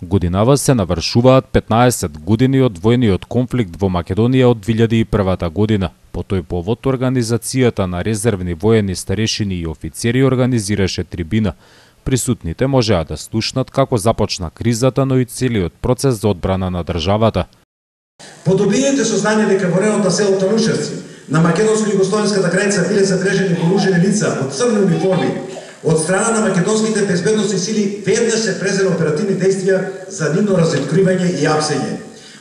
Годинава се навршуваат 15 години од војниот конфликт во Македонија од 2001 година. По тој повод организацијата на резервни воени старешини и офицери организираше трибина. Присутните можеа да слушнат како започна кризата, но и целиот процес за одбрана на државата. Подобрините сознание дека во районот на село Танушевци на македонско-југословенската граница биле забележени вооружени лица од црни униформи, од страна на македонските безбедносни сили веднаш се презеле оперативни действија за нивно разоткривање и апсење.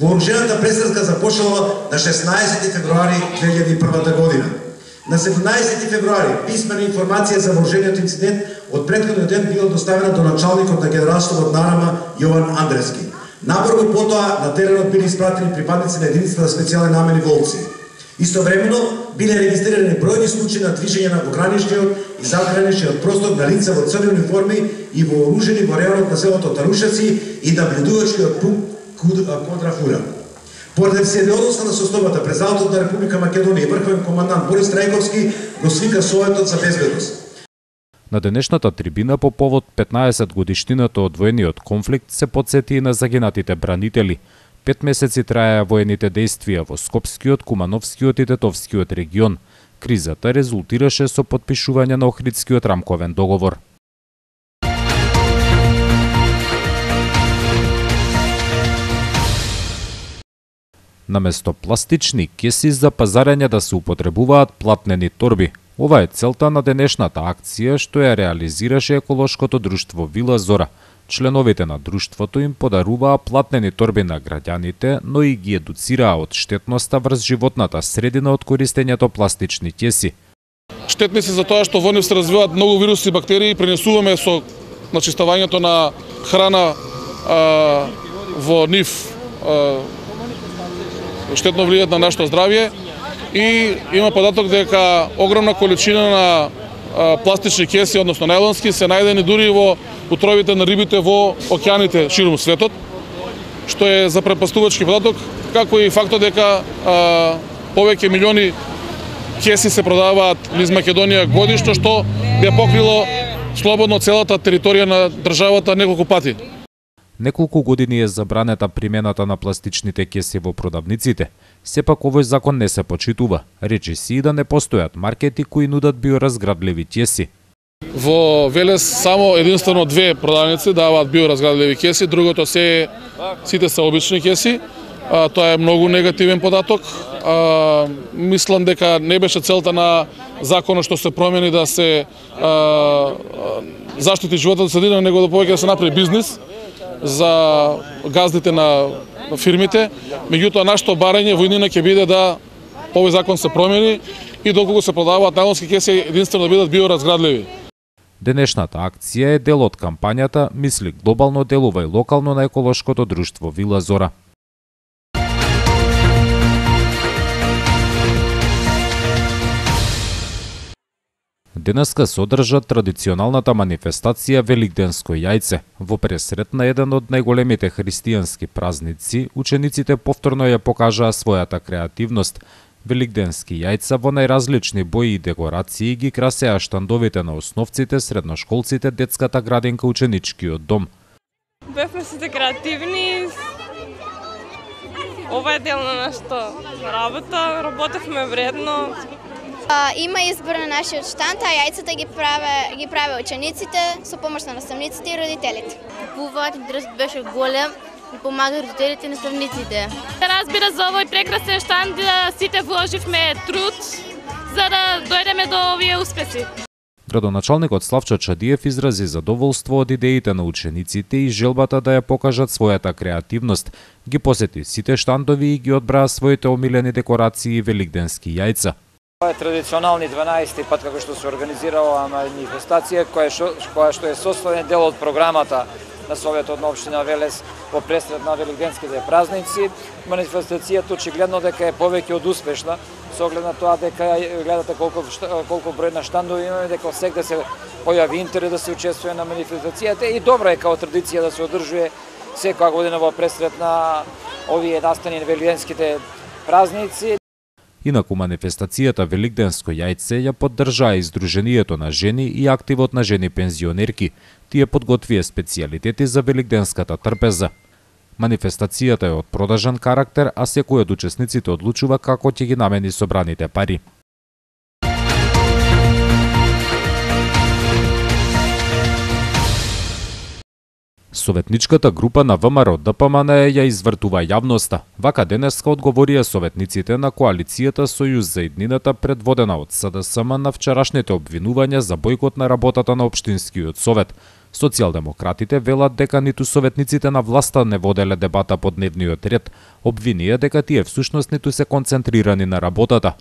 Вооружената престрелка започнала на 16 февруари 2001 година. На 17 февруари писмена информација за вооружениот инцидент од претходниот ден била доставена до началникот на генералштабот на АРМА Јован Андрески. Набрзо потоа на теренот били испратени припадници на единицата за специјални намени Волци. Истовремено биле регистрирани бројни случаи на движење на пограничниот и задграничниот простор на лица во црни униформи и вооружени во районот на селото Танушевци и наблюдувачкиот пункт Квадрафура. Поради сериозноста на состојбата, президентот на Република Македонија и врховен командант Борис Трајковски го свика Советот за безбедност. На денешната трибина по повод 15 годишнината од војниот конфликт се потсети и на загинатите бранители. 5 месеци траеа воените действија во Скопскиот, Кумановскиот и Тетовскиот регион. Кризата резултираше со потпишување на Охридскиот рамковен договор. Наместо пластични кеси за пазарење да се употребуваат платнени торби. Ова е целта на денешната акција што ја реализираше еколошкото друштво Вила Зора. Членовите на друштвото им подаруваа платнени торби на граѓаните, но и ги едуцираа од штетноста врз животната средина од користењето пластични кеси. Штетни се за тоа што во нив се развиваат многу вируси и бактерии, пренесуваме со начистувањето на храна во нив штетно влијаат на нашето здравје и има податок дека огромна количина на пластични кеси, односно најлонски, се најдени дури во утробите на рибите во океаните ширум светот, што е запрепастувачки податок, како и фактот дека повеќе милиони кеси се продаваат низ Македонија годишно, што би покрило слободно целата територија на државата неколку пати. Неколку години е забранета примената на пластичните кеси во продавниците. Сепак овој закон не се почитува. Речи се и да не постојат маркети кои нудат биоразградливи кеси. Во Велес само единствено 2 продавници даваат биоразградливи кеси, другото сите се обични кеси. Тоа е многу негативен податок. Мислам дека не беше целта на законот што се промени да се заштити животната средина, него да повеќе да се направи бизнис за газдите на фирмите. Меѓутоа, нашето барање во иднина ќе биде да овој закон се промени и доколку се продаваат најлонски кеси, единствено да бидат биоразградливи. Денешната акција е дел од кампањата Мисли глобално, делувај локално на еколошкото друштво Вила Зора. Денеска се одржа традиционалната манифестација Великденско јајце. Во пресрет на еден од најголемите христијански празници, учениците повторно ја покажаа својата креативност. Великденски јајца во најразлични бои и декорации ги красеа штандовите на основците, средношколците, детската градинка, ученичкиот дом. Бевме сите креативни. Ова е дел на нашата работа, работевме вредно. Има избор на нашиот штанд, а јајцата ги праве учениците со помош на наставниците и родителите. Купуваат, интересот беше голем и помага родителите и наставниците. Разбира, за овој прекрасен штанд сите вложивме труд за да дојдеме до овие успеси. Градоначалникот Славчо Чадиев изрази задоволство од идеите на учениците и желбата да ја покажат својата креативност. Ги посети сите штандови и ги одбраа своите омилени декорации и великденски јајца. Ова е традиционални 12-ти пат како што се организира оваа манифестација, која што е составен дел од програмата на Советот на општина Велес во пресрет на великденските празници. Манифестацијата очигледно дека е повеќе од успешна, со оглед на тоа дека гледате колку број на штандови имаме, дека секогаш се појави интерес да се учествува на манифестацијата и добра е као традиција да се одржува секоја година во пресрет на овие настани на великденските празници. Инаку манифестацијата Великденско јајце ја поддржаа Издруженијето на жени и Активот на жени пензионерки. Тие подготвија специјалитети за великденската трпеза. Манифестацијата е од продажен карактер, а секој од учесниците одлучува како ќе ги намени собраните пари. Советничката група на ВМРО ДПМН ја извртува јавноста. Вака денеска одговорија советниците на коалицијата Сојуз за иднината предводена од СДСМ на вчерашните обвинувања за бојкот на работата на Општинскиот совет. Социјалдемократите велат дека ниту советниците на власта не воделе дебата по дневниот ред, обвинија дека тие всушност ниту се концентрирани на работата.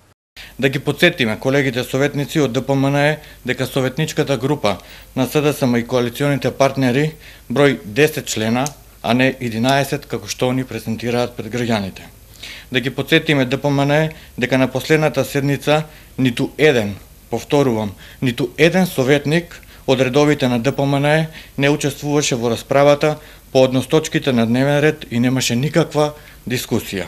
Да ги подсетиме колегите советници од ДПМН дека советничката група на СДСМ и коалиционите партнери број 10 члена, а не 11 како што они презентираат пред граѓаните. Да ги подсетиме ДПМН дека на последната седница ниту еден, повторувам, ниту еден советник од редовите на ДПМН не учествуваше во расправата по однос точките на дневен ред и немаше никаква дискусија.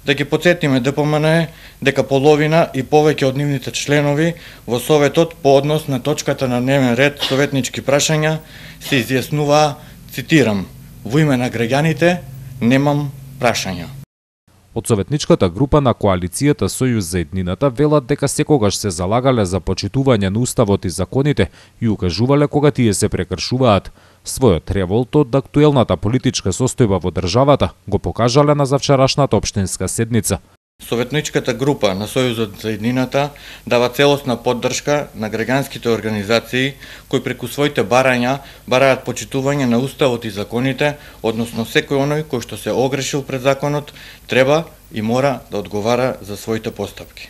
Да ги подсетиме ДПМН дека половина и повеќе од нивните членови во Советот по однос на точката на дневен ред советнички прашања се изјаснуваа, цитирам, во име на граѓаните немам прашања. Од советничката група на коалицијата Сојуз за иднината велат дека секогаш се залагале за почитување на уставот и законите и укажувале кога тие се прекршуваат. Својот револт од актуелната политичка состојба во државата го покажале на завчерашната општинска седница. Советничката група на Сојузот за иднината дава целосна поддршка на граѓанските организации кои преку своите барања бараат почитување на уставот и законите, односно секој оној кој што се огрешил пред законот треба и мора да одговара за своите постапки.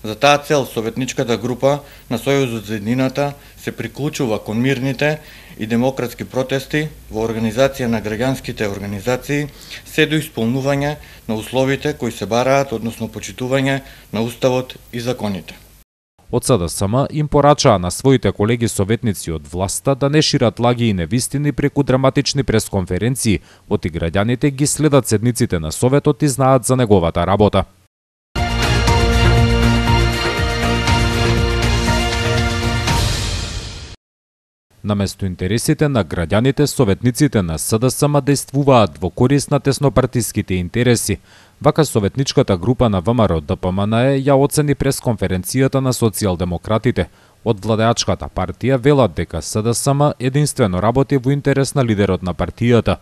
За таа цел советничката група на Сојузот за иднината се приклучува кон мирните и демократски протести во организација на граѓанските организации се до исполнување на условите кои се бараат, односно почитување на уставот и законите. Од СДСМ им порачаа на своите колеги советници од власта да не шират лаги и невистини преку драматични пресконференции, оти граѓаните ги следат седниците на Советот и знаат за неговата работа. Наместо интересите на граѓаните, советниците на СДСМ действуваат во корист на теснопартиските интереси. Вака советничката група на ВМРО ДПМН ја оцени пресконференцијата на социјалдемократите. Од владеачката партија велат дека СДСМ единствено работи во интерес на лидерот на партијата.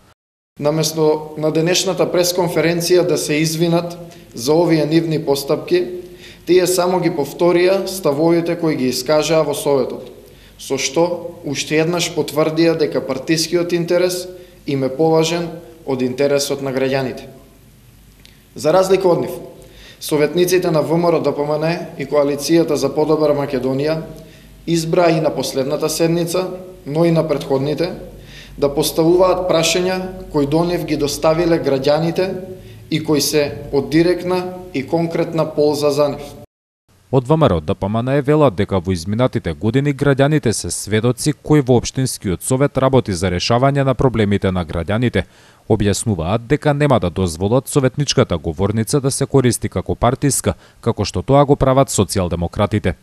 Наместо на денешната пресконференција да се извинат за овие нивни постапки, тие само ги повторија ставовите кои ги искажаа во Советот, со што уште еднаш потврдија дека партискиот интерес им е поважен од интересот на граѓаните. За разлика од нив, советниците на ВМРО ДПМН и коалицијата за подобра Македонија избраа и на последната седница, но и на претходните, да поставуваат прашања кои до нив ги доставиле граѓаните и кои се од директна и конкретна полза за нив. Од ВМРО ДПМН велат дека во изминатите години граѓаните се сведоци кои во Општинскиот совет работи за решавање на проблемите на граѓаните. Објаснуваат дека нема да дозволат советничката говорница да се користи како партиска, како што тоа го прават социјалдемократите.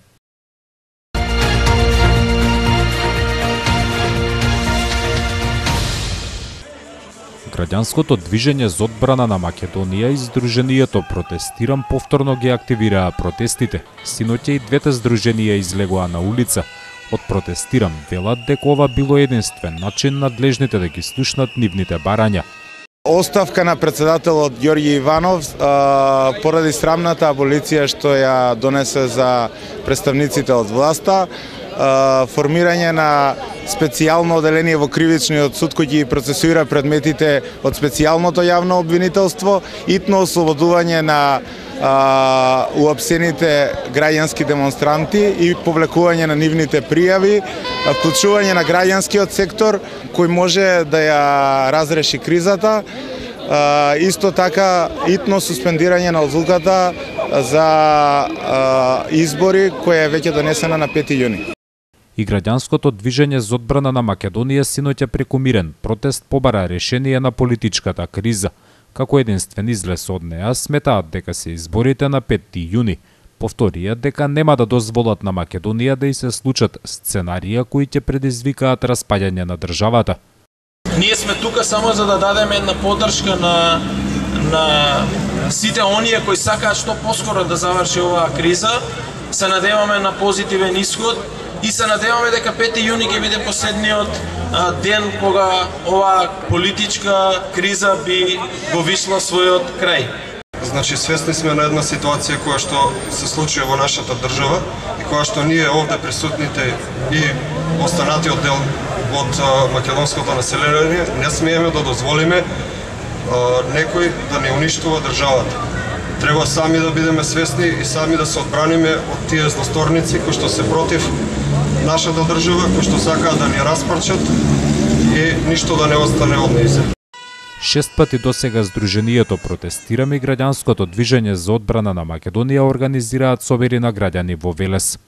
Граѓанското движење за одбрана на Македонија и Сдруженијето Протестирам повторно ги активираа протестите. Синоќа и двете здруженија излегоа на улица. Од Протестирам велат дека ова било единствен начин надлежните да ги слушнат нивните барања. Оставка на председателот Ѓорѓи Иванов поради срамната аболиција што ја донесе за представниците од власта, формирање на специјално оделение во кривичниот суд кој ги процесуира предметите од специјалното јавно обвинителство, итно ослободување на уапсените граѓански демонстранти и повлекување на нивните пријави, вклучување на граѓанскиот сектор кој може да ја разреши кризата, исто така итно суспендирање на одлуката за избори која е веќе донесена на 5 јуни. И граѓанското движење за одбрана на Македонија синоќа преку мирен протест побара решение на политичката криза. Како единствен излез од неа сметаат дека се изборите на 5 јуни. Повторија дека нема да дозволат на Македонија да и се случат сценарија кои ќе предизвикаат распаѓање на државата. Ние сме тука само за да дадеме една поддршка на сите оние кои сакаат што поскоро да заврши оваа криза. Се надеваме на позитивен исход и се надеваме дека 5 јуни ќе биде последниот ден кога оваа политичка криза би го вишла својот крај. Значи, свесни сме на една ситуација која што се случи во нашата држава и која што ние овде присутните и останатиот дел од македонското население не смееме да дозволиме некој да не уништува државата. Треба сами да бидеме свесни и сами да се одбраниме од тие злосторници кои што се против нашата држава, кои што сакаат да ни распарчат и ништо да не остане од нејзе. 6 пати досега Сдруженијето Протестираме и граѓанското движење за одбрана на Македонија организираат собери на граѓани во Велес.